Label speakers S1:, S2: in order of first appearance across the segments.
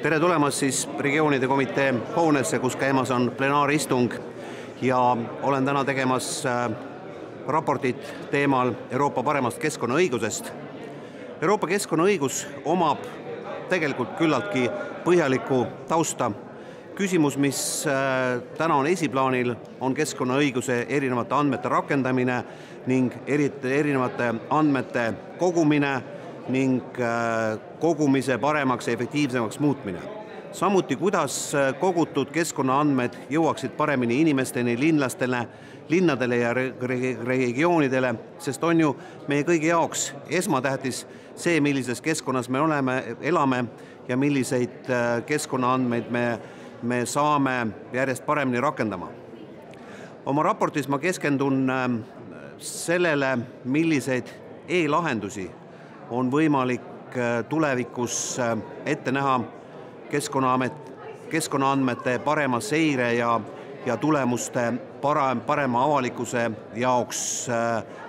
S1: Tere tulemast siis regioonide komitee hoonesse, kus käimas on plenaaristung ja olen täna tegemas raportit teemal Euroopa paremast keskkonnaõigusest. Euroopa keskkonnaõigus omab tegelikult küllaltki põhjalikku tausta. Küsimus, mis täna on esiplaanil, on keskkonnaõiguse erinevate andmete rakendamine ning erinevate andmete kogumine ning kogumise paremaks ja efektiivsemaks muutmine. Samuti, kuidas kogutud keskkonnaandmed jõuaksid paremini inimesteni, linnadele ja regioonidele, sest on ju meie kõigi jaoks esmatähtis see, millises keskkonnas me elame ja milliseid keskkonnaandmeid me saame järjest paremini rakendama. Oma raportis ma keskendun sellele, milliseid e-lahendusi on võimalik tulevikus ette näha keskkonnaandmete parema seire ja tulemuste parema avalikkuse jaoks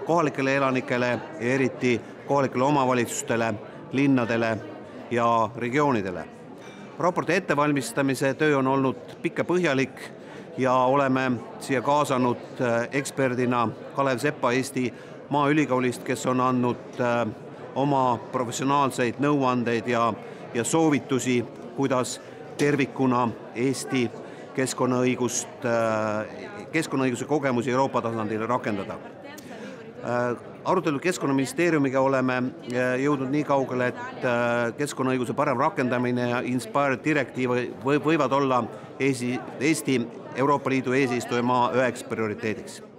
S1: kohalikele elanikele ja eriti kohalikele omavalitsustele, linnadele ja regioonidele. Raporti ettevalmistamise töö on olnud pikk ja põhjalik ja oleme siia kaasanud eksperdina Kalev Sepa Eesti Maaülikoolist, kes on andnud oma professionaalseid nõuandeid ja soovitusi, kuidas tervikuna Eesti keskkonnaõiguse kogemusi Euroopa tasandil rakendada. Arutelu Keskkonnaministeeriumiga oleme jõudnud nii kaugele, et keskkonnaõiguse parem rakendamine ja Inspire direktiiv võivad olla Eesti Euroopa Liidu eesistujamaa üheks prioriteediks.